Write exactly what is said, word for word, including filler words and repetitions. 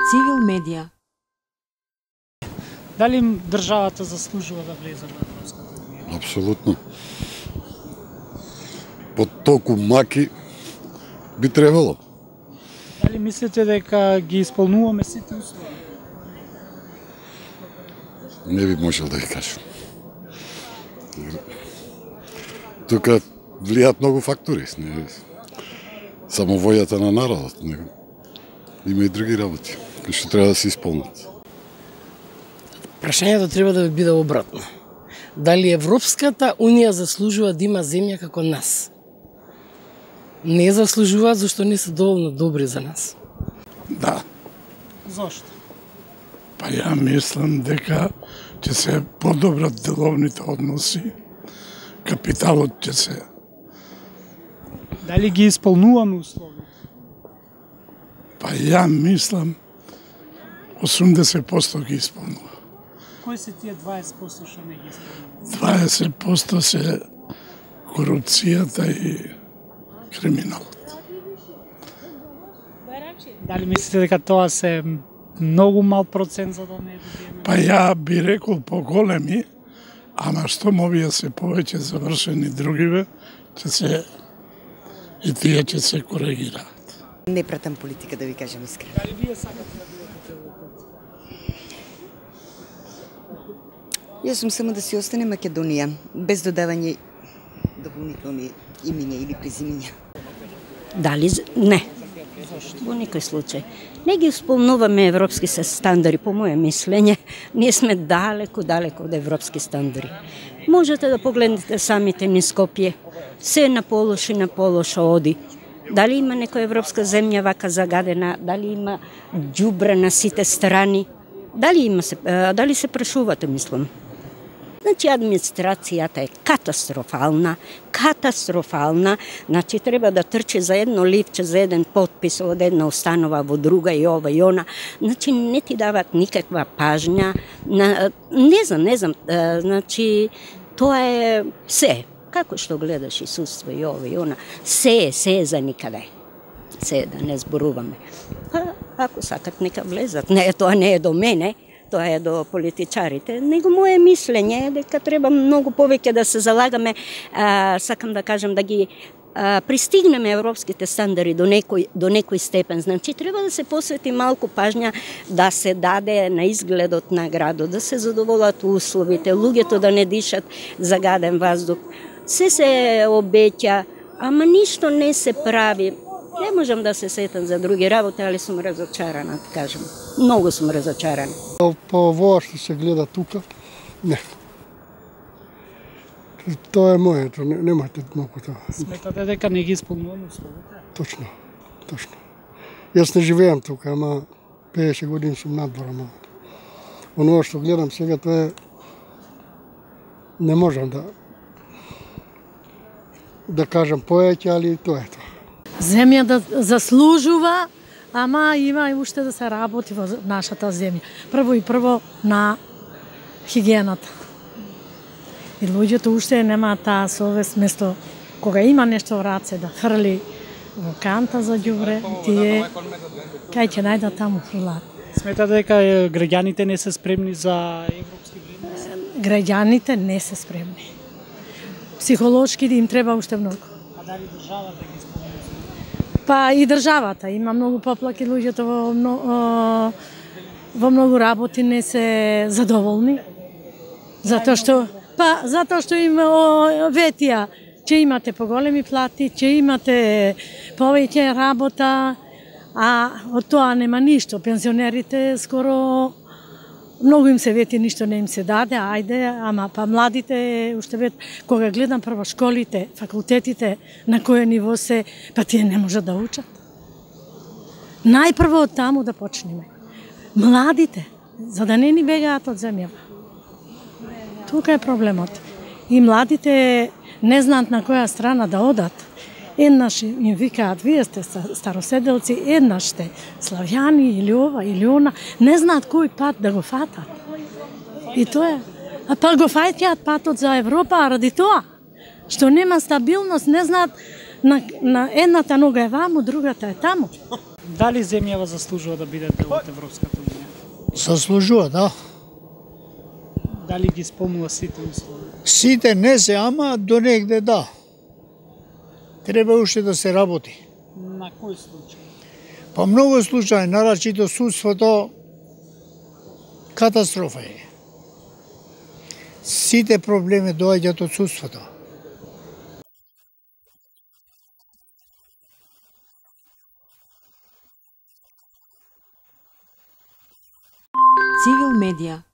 Цивил медија. Дали државата заслужува да влезе во Европската унија? Апсолутно. По толку маки би требало. Дали мислите дека ги исполнуваме сите услови? Не би можел да ги кажам. Тука влијаат многу фактори. Не само војата на народот, него има и други работи кои што треба да се исполнат. Прашањето треба да биде обратно. Дали Европската унија заслужува да има земја како нас? Не заслужуваат зашто не се доволно добри за нас. Да. Зошто? Па ја мислам дека ќе се подобрат деловните односи, капиталот ќе се... Дали ги исполнуваме услови? Па ја мислам осумдесет проценти ги исполнува. Кои се тие дваесет проценти што не ги исполнуваме? дваесет проценти се корупцијата и криминалот. Дали мислите дека тоа се многу мал процент за да не добиеме? Па ја би рекол поголеми, ама што овие се повеќе завршени другиве, ќе се и тие ќе се коригираат. Не пратам политика, да ви кажам искрено. Дали вие сакате да бидете во пат? Јас сум само да си остане Македонија, без додавање дополнителни имиња или презимиња. Дали? Не. Во никој случај. Не ги исполнуваме европски стандарди, по моје мислење. Ние сме далеку, далеку од европски стандарди. Можете да погледнете самите низ Скопје. Се на полош и на полош оди. Дали има некоја европска земја вака загадена? Дали има ѓубре на сите страни? Дали има се, дали се прашувате, мислам? Значи, администрацијата е катастрофална, катастрофална. Значи, треба да трчи за едно ливче, за еден потпис од една установа во друга и ова и она. Значи, не ти дават никаква пажња. Не знам, не знам. Значи, тоа е се. Како што гледаш и судство и ова и она. Се е, се е за никаде. Се е, да не зборуваме. Па, ако сакат, нека влезат. Не, тоа не е до мене. Тоа е до политичарите. Него моje мислење е дека треба многу повеќе да се залагаме, а, сакам да кажам, да ги а, пристигнеме европските стандарди до некој, до некој степен. Значи, треба да се посвети малку пажња да се даде на изгледот на градот, да се задоволат условите, луѓето да не дишат загаден воздух. Се се обеќа, ама ништо не се прави. Не можам да се сетам за други работи, али сум разочарана, да кажам. Многу сум разочарана. По ова што се гледа тука, не. Тоа е моето, не, немате многу тоа. Сметате дека не ги исполнуваме условите? Точно, точно. Јас не живеам тука, ама петдесет години сум надвор, ама оно што гледам сега, тоа е... Не можам да да кажам поеќе, али тоа е тоа. Земја да заслужува, ама има и уште да се работи во нашата земја. Прво и прво на хигиената. И луѓето уште немаат таа совест, место кога има нешто во раце да хрли во канта за ѓубре, тие кај ќе најдат таму фрлат. Сметате дека граѓаните не се спремни за европски вредности? Граѓаните не се спремни. Психолошки им треба уште многу. А дали државата ги исполнува? Па и државата има многу поплаки, луѓето во многу, во многу работи не се задоволни. Затоа што па затоа што им ветија ќе имате поголеми плати, ќе имате повеќе работа, а од тоа нема ништо. Пензионерите скоро многу им се вети, ништо не им се даде, ајде, ама па младите уште вет, кога гледам прво школите, факултетите, на кој ниво се, па тие не можат да учат. Најпрво од таму да почнеме. Младите, за да не ни бегаат од земјава. Тука е проблемот. И младите не знаат на која страна да одат. Еднаш им викаат, вие сте староседелци, еднаш сте славјани или ова или она, не знаат кој пат да го фатат. И тоа е. А па го фаќаат патот за Европа ради тоа, што нема стабилност, не знаат на, на едната нога е ваму, другата е таму. Дали земјава заслужува да биде дел од Европската унија? Заслужува, да. Дали ги исполнува сите услови? Сите не се, ама до негде да. Треба уште да се работи. На кој случај? Па многу случаи, нарачито судството, катастрофа е. Сите проблеми доаѓаат од судството. Цивил медија